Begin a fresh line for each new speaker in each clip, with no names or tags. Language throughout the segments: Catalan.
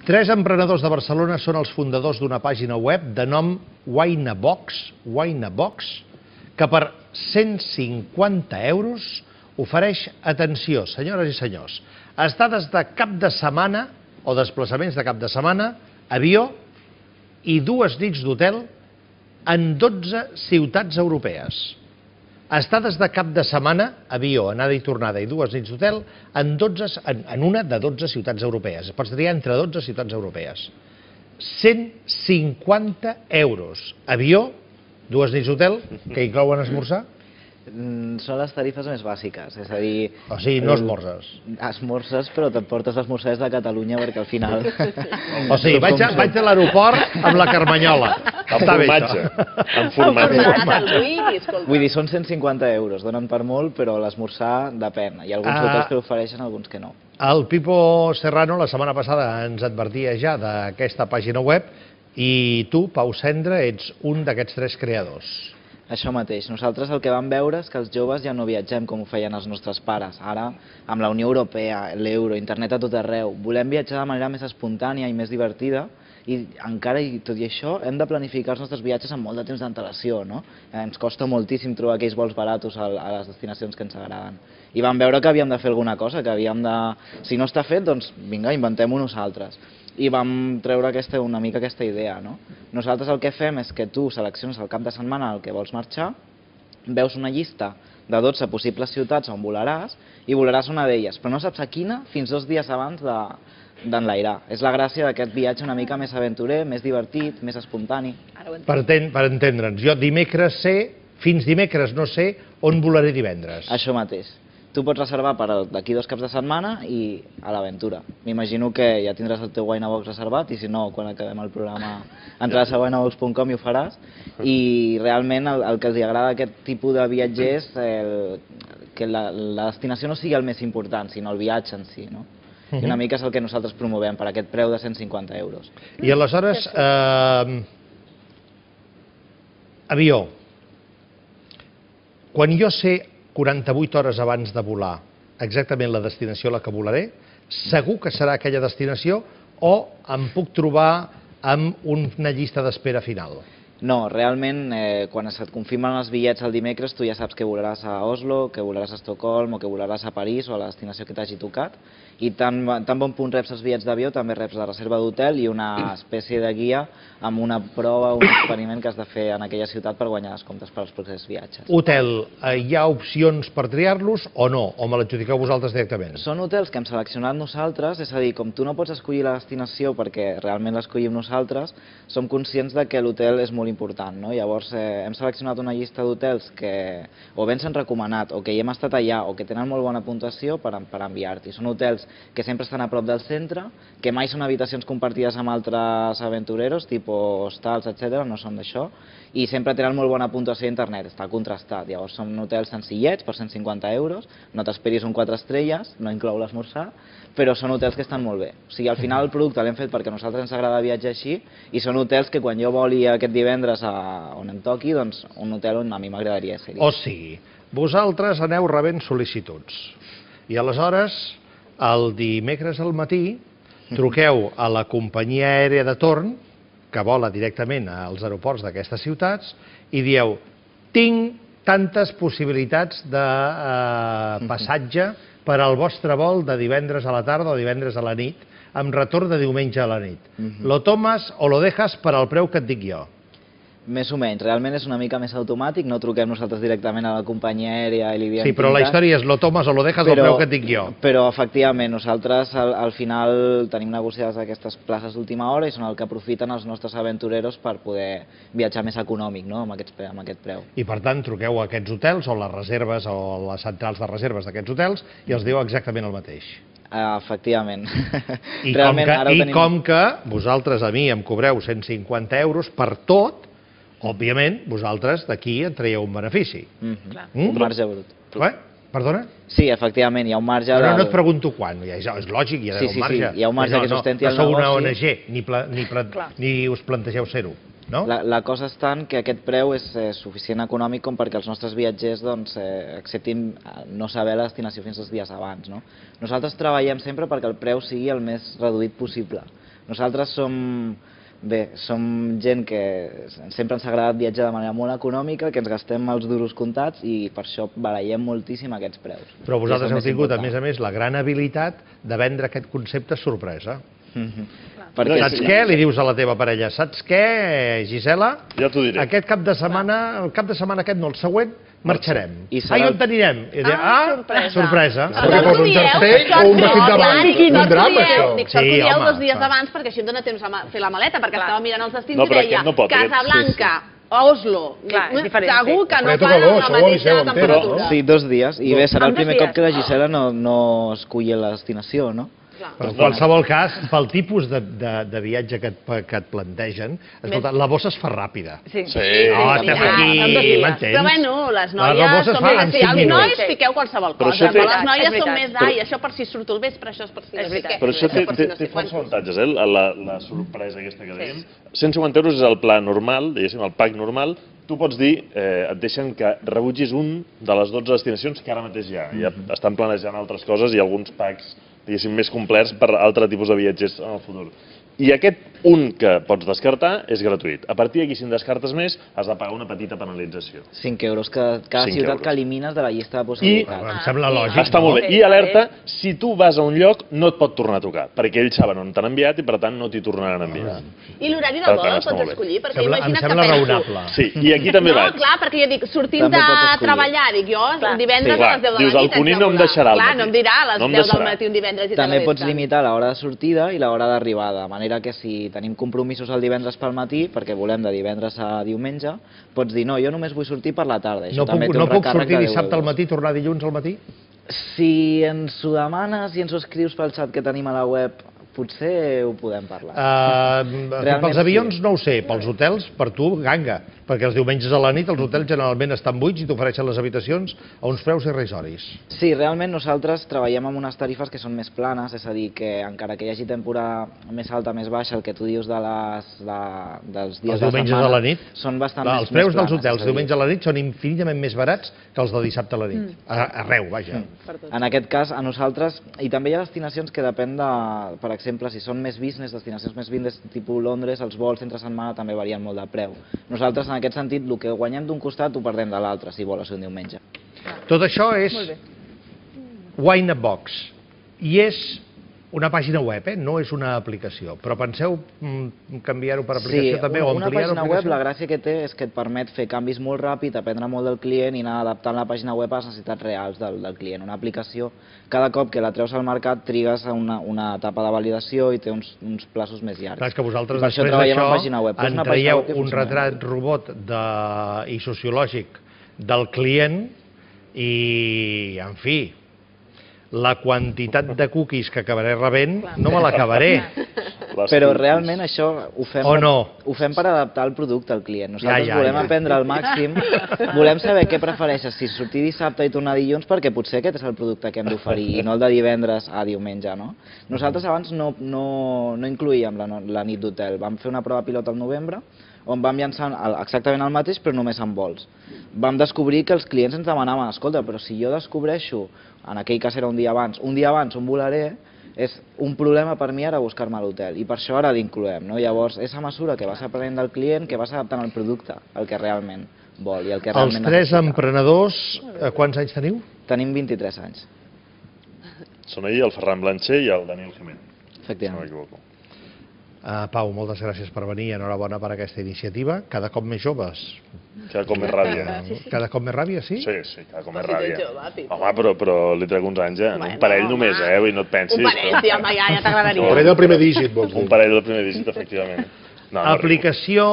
Tres emprenedors de Barcelona són els fundadors d'una pàgina web de nom Winabox, que per 150 euros ofereix, atenció, senyores i senyors, estades de cap de setmana o desplaçaments de cap de setmana, avió i 2 nits d'hotel en 12 ciutats europees. Estades de cap de setmana, avió, anada i tornada i 2 nits d'hotel en una de 12 ciutats europees. Pots triar entre 12 ciutats europees. 150 euros. Avió, 2 nits d'hotel, que inclouen esmorzar.
Són les tarifes més bàsiques, és a dir...
O sigui, no esmorzes.
Esmorzes, però t'emportes l'esmorzar des de Catalunya, perquè al final...
O sigui, vaig a l'aeroport amb la carmanyola. Està bé, això.
Amb formatge.
Vull dir, són 150 euros, donen per molt, però l'esmorzar depèn. Hi ha alguns hotels que l'ofereixen, alguns que no.
El Pipo Serrano la setmana passada ens advertia ja d'aquesta pàgina web i tu, Pau Cendra, ets un d'aquests 3 creadors.
Això mateix. Nosaltres el que vam veure és que els joves ja no viatgem com ho feien els nostres pares. Ara, amb la Unió Europea, l'euro, internet a tot arreu, volem viatjar de manera més espontània i més divertida i encara i tot i això hem de planificar els nostres viatges amb molt de temps d'antelació, no? Ens costa moltíssim trobar aquells vols baratos a les destinacions que ens agraden. I vam veure que havíem de fer alguna cosa, que havíem de... Si no està fet, doncs vinga, inventem-ho nosaltres. I vam treure una mica aquesta idea, no? Nosaltres el que fem és que tu selecciones el cap de setmana al que vols marxar, veus una llista de 12 possibles ciutats on volaràs i volaràs una d'elles, però no saps a quina fins 2 dies abans d'enlairar. És la gràcia d'aquest viatge una mica més aventurer, més divertit, més espontani.
Per entendre'ns, jo fins dimecres no sé on volaré divendres.
Això mateix. Tu pots reservar per d'aquí 2 caps de setmana i a l'aventura. M'imagino que ja tindràs el teu Winabox reservat i si no, quan acabem el programa entraràs a winabox.com i ho faràs. I realment el que els agrada d'aquest tipus de viatgers que la destinació no sigui el més important, sinó el viatge en si, no? I una mica és el que nosaltres promovem per aquest preu de 150 euros.
I aleshores, avió. Quan jo sé 48 hores abans de volar exactament la destinació a la que volaré, segur que serà aquella destinació o em puc trobar amb una llista d'espera final?
No, realment, quan se't confirmen els bitllets el dimecres, tu ja saps que volaràs a Oslo, que volaràs a Estocolm o que volaràs a París o a la destinació que t'hagi tocat. I tan bon punt reps els bitllets d'avió, també reps la reserva d'hotel i una espècie de guia amb una prova, un experiment que has de fer en aquella ciutat per guanyar descomptes per als propers viatges.
Hotel, hi ha opcions per triar-los o no? O me l'adjudiqueu vosaltres directament?
Són hotels que hem seleccionat nosaltres, és a dir, com tu no pots escollir la destinació perquè realment l'escollim nosaltres, som conscients que l'hotel és molt important, no? Llavors hem seleccionat una llista d'hotels que o bé ens han recomanat o que hi hem estat allà o que tenen molt bona puntuació per enviar-t'hi. Són hotels que sempre estan a prop del centre, que mai són habitacions compartides amb altres aventureros, tipus hostals, etc., no són d'això, i sempre tenen molt bona puntuació a internet, està contrastat. Llavors són hotels senzillets per 150 euros, no t'esperis un 4 estrelles, no inclou l'esmorzar, però són hotels que estan molt bé. O sigui, al final el producte l'hem fet perquè a nosaltres ens agrada viatjar així i són hotels que quan jo voli aquest divendres on em toqui, doncs un hotel on a mi m'agradaria ser-hi.
O sigui, vosaltres aneu rebent sol·licituds i aleshores el dimecres al matí truqueu a la companyia aèria de torn que vola directament als aeroports d'aquestes ciutats i dieu, tinc tantes possibilitats de passatge per al vostre vol de divendres a la tarda o divendres a la nit, amb retorn de diumenge a la nit. Lo tomas o lo dejas per al preu que et dic jo?
Més o menys, realment és una mica més automàtic, no truquem nosaltres directament a la companyia aèria i li diem...
Sí, però la història és lo tomes o lo dejas al preu que et dic jo.
Però efectivament, nosaltres al final tenim negociades aquestes places d'última hora i són el que aprofiten els nostres aventureros per poder viatjar més econòmic, no?, amb aquest preu.
I per tant truqueu a aquests hotels o les reserves o les centrals de reserves d'aquests hotels i els diu exactament el mateix.
Efectivament.
I com que vosaltres a mi em cobreu 150 euros per tot, òbviament, vosaltres d'aquí en traieu un benefici.
Un marge brut.
Perdona?
Sí, efectivament, hi ha un marge...
Però no et pregunto quan, és lògic, hi ha d'haver un marge.
Sí, hi ha un marge que sustenti el negoci.
No sou una ONG, ni us plantegeu ser-ho, no?
La cosa és tant que aquest preu és suficient econòmic com perquè els nostres viatgers acceptin no saber la destinació fins 2 dies abans, no? Nosaltres treballem sempre perquè el preu sigui el més reduït possible, Nosaltres som gent que sempre ens ha agradat viatjar de manera molt econòmica, que ens gastem els duros comptats i per això barallem moltíssim aquests preus.
Però vosaltres heu tingut, a més, la gran habilitat de vendre aquest concepte sorpresa. Saps què? Li dius a la teva parella, saps què, Gisela?
Ja t'ho diré.
Aquest cap de setmana, el cap de setmana aquest no, el següent, marxarem.
I
I on t'anirem? Sorpresa.
Perquè posa un jersei o un vestit de bany, un drap, això.
Dic, sort que ho dieu 2 dies abans perquè així em dona temps a fer la maleta, perquè estava mirant els destins i deia Casablanca, Oslo, segur que no fan la mateixa temperatura.
Sí, 2 dies. I bé, serà el primer cop que la Gisela no esculli la destinació, no?
Però en qualsevol cas, pel tipus de viatge que et plantegen, escolta, la bossa es fa ràpida.
Sí.
No, estem aquí, m'entens?
Però bueno, les noies són més... Els nois piqueu qualsevol cosa, però les noies són més ai, això per si surto al vespre, això és per si no sé què.
Però això té força avantatges, la sorpresa aquesta que dèiem. 150 euros és el pla normal, diguéssim, el pack normal. Tu pots dir, et deixen que rebutgis un de les 12 destinacions que ara mateix hi ha. Ja estan planejant altres coses i alguns packs, diguéssim, més complets per altre tipus de viatgers en el futur. I aquest un que pots descartar és gratuït. A partir d'aquí, si en descartes més, has de pagar una petita penalització.
5 euros cada ciutat que elimines de la llista de possibilitats.
Em sembla lògic.
Està molt bé. I alerta, si tu vas a un lloc, no et pot tornar a trucar, perquè ells saben on t'han enviat i per tant no t'hi tornaran a enviar.
I l'horari del vol el pots escollir? Perquè
Em
imagina't que
sembla
penso...
raonable.
Sí, i aquí també vaig.
No, clar, perquè jo dic, sortint de treballar, dic jo, divendres a les 10 de la nit.
Dius, el Cuní no em deixarà al matí.
Clar, no em dirà a les 10 del matí un divendres i
també pots limitar l'hora de sortida i l'hora d'arribada, de manera que si tenim compromisos el divendres pel matí, perquè volem de divendres a diumenge, pots dir, no, jo només vull sortir per la tarda.
No puc sortir dissabte al matí i tornar dilluns al matí?
Si ens ho demanes i ens ho escrius pel xat que tenim a la web, potser ho podem parlar.
Pels avions no ho sé, pels hotels, per tu, ganga, perquè els diumenges a la nit els hotels generalment estan buits i t'ofereixen les habitacions a uns preus irrisoris.
Sí, realment nosaltres treballem amb unes tarifes que són més planes, és a dir, que encara que hi hagi temporada més alta, més baixa, el que tu dius dels dies de la setmana, són bastant més planes.
Els preus dels hotels diumenge a la nit són infinitament més barats que els de dissabte a la nit. Arreu, vaja.
En aquest cas, a nosaltres, i també hi ha destinacions que depèn de, per exemple, si són més business, destinacions més business, tipus Londres, els vols entre setmana també varien molt de preu. Nosaltres, en aquest sentit, el que guanyem d'un costat ho perdem de l'altre, si vols un diumenge.
Tot això és Wine in a Box i és una pàgina web, no és una aplicació. Però penseu canviar-ho per aplicació també o ampliar-ho?
Sí, una pàgina web, la gràcia que té és que et permet fer canvis molt ràpid, aprendre molt del client i anar adaptant la pàgina web a les necessitats reals del client. Una aplicació, cada cop que la treus al mercat, trigues a una etapa de validació i té uns plaços més llargs.
Clar, és que vosaltres després d'això en traieu un retrat robot i sociològic del client i, en fi, la quantitat de cookies que acabaré rebent no me l'acabaré.
Però realment això ho fem per adaptar el producte al client. Nosaltres volem aprendre al màxim, volem saber què prefereixes, si sortir dissabte i tornar dilluns, perquè potser aquest és el producte que hem d'oferir i no el de divendres a diumenge. Nosaltres abans no incloíem la nit d'hotel. Vam fer una prova pilot al novembre on vam llançar exactament el mateix però només amb vols. Vam descobrir que els clients ens demanaven, escolta, però si jo descobreixo, en aquell cas era un dia abans on volaré, és un problema per mi ara buscar-me l'hotel i per això ara l'incloem. Llavors, és a mesura que vas aprenent del client que vas adaptant el producte al que realment vol i el que realment necessita.
Els 3 emprenedors, quants anys teniu?
Tenim 23 anys.
Són ahir el Ferran Blancher i el Daniel Jiménez.
Efectivament.
Si no m'equivoco.
Pau, moltes gràcies per venir i enhorabona per aquesta iniciativa. Cada cop més joves.
Cada cop més ràbia.
Cada cop més ràbia, sí?
Sí, cada cop més ràbia. Home, però li trec uns anys, un parell només, vull dir, no et pensis.
Un parell, sí, home, ja t'agradaria.
Un parell del primer dígit, vols dir.
Un parell del primer dígit, efectivament.
Aplicació...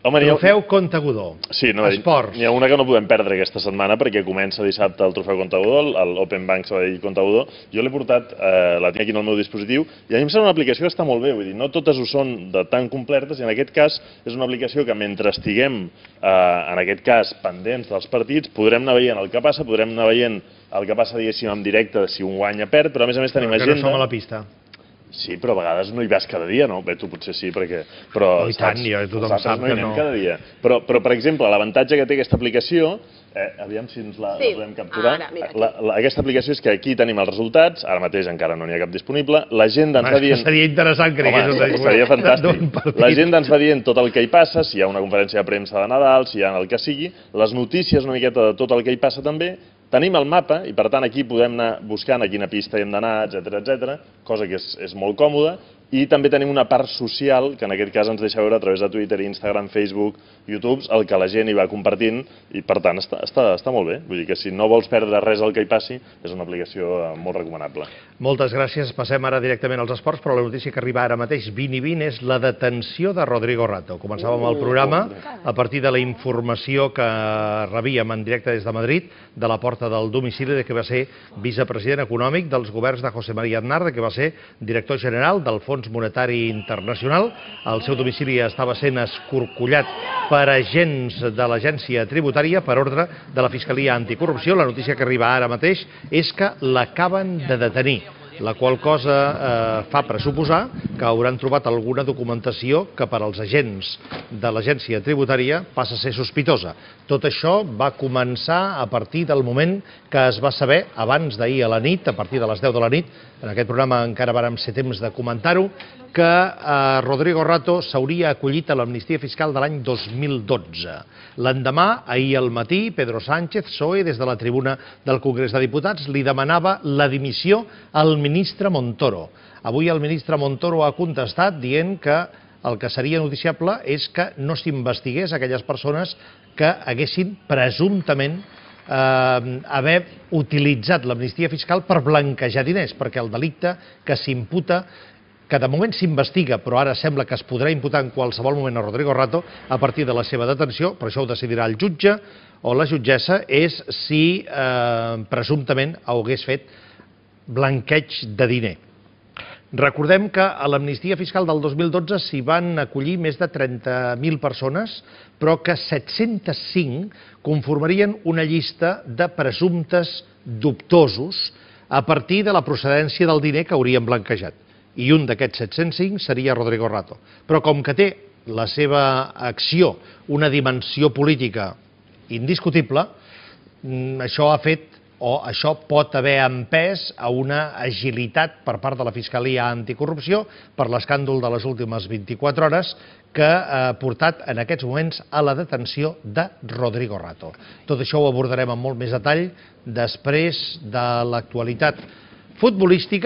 Trofeu Comte Godó.
Sí,
esports.
N'hi ha una que no podem perdre aquesta setmana perquè comença dissabte el Trofeu Comte Godó, l'Open Bank Sabadell Comte Godó. Jo l'he portat, la tinc aquí en el meu dispositiu, i a mi em sembla una aplicació que està molt bé, vull dir, no totes ho són de tan completes, i en aquest cas és una aplicació que mentre estiguem, en aquest cas, pendents dels partits, podrem anar veient el que passa, podrem anar veient el que passa, diguéssim, en directe, si un guanya perd, però a més tenim agenda...
Que no som a la pista.
Sí, però a vegades no hi vas cada dia, no? Bé, tu potser sí, perquè... Però,
i tant, tothom sap
que no. Cada dia. Però, per exemple, l'avantatge que té aquesta aplicació, aviam si ens la podem capturar, aquesta aplicació és que aquí tenim els resultats, ara mateix encara no n'hi ha cap disponible, l'agenda ens va dient...
Seria interessant que
home, seria fantàstic. L'agenda ens va dient tot el que hi passa, si hi ha una conferència de premsa de Nadal, si hi ha el que sigui, les notícies una miqueta de tot el que hi passa també. Tenim el mapa i, per tant, aquí podem anar buscant a quina pista hem d'anar, etcètera, cosa que és molt còmoda. I també tenim una part social, que en aquest cas ens deixa veure a través de Twitter, Instagram, Facebook, YouTube, el que la gent hi va compartint, i per tant està molt bé. Vull dir que si no vols perdre res del que hi passi, és una aplicació molt recomanable.
Moltes gràcies. Passem ara directament als esports, però la notícia que arriba ara mateix, 20 i 20, és la detenció de Rodrigo Rato. Començàvem el programa a partir de la informació que rebíem en directe des de Madrid, de la porta del domicili de que va ser vicepresident econòmic dels governs de José María Aznar, de que va ser director general del Fons Monetari Internacional. El seu domicili estava sent escorcollat per agents de l'agència tributària per ordre de la Fiscalia Anticorrupció. La notícia que arriba ara mateix és que l'acaben de detenir, la qual cosa fa pressuposar que hauran trobat alguna documentació que per als agents de l'agència tributària passa a ser sospitosa. Tot això va començar a partir del moment que es va saber, abans d'ahir a la nit, a partir de les 10 de la nit, en aquest programa encara vàrem ser temps de comentar-ho, que Rodrigo Rato s'hauria acollit a l'amnistia fiscal de l'any 2012. L'endemà, ahir al matí, Pedro Sánchez, PSOE, des de la tribuna del Congrés de Diputats, li demanava la dimissió al ministre Montoro. Avui el ministre Montoro ha contestat dient que el que seria noticiable és que no s'investigués aquelles persones que haguessin presumptament haver utilitzat l'amnistia fiscal per blanquejar diners, perquè el delicte que s'imputa, que de moment s'investiga, però ara sembla que es podrà imputar en qualsevol moment a Rodrigo Rato a partir de la seva detenció, però això ho decidirà el jutge o la jutgessa, és si presumptament hagués fet blanqueig de diner. Recordem que a l'amnistia fiscal del 2012 s'hi van acollir més de 30.000 persones, però que 705 conformarien una llista de presumptes dubtosos a partir de la procedència del diner que haurien blanquejat. I un d'aquests 705 seria Rodrigo Rato. Però com que té la seva acció una dimensió política indiscutible, això ha fet o això pot haver empès a una agilitat per part de la Fiscalia Anticorrupció per l'escàndol de les últimes 24 hores que ha portat en aquests moments a la detenció de Rodrigo Rato. Tot això ho abordarem amb molt més detall després de l'actualitat futbolística.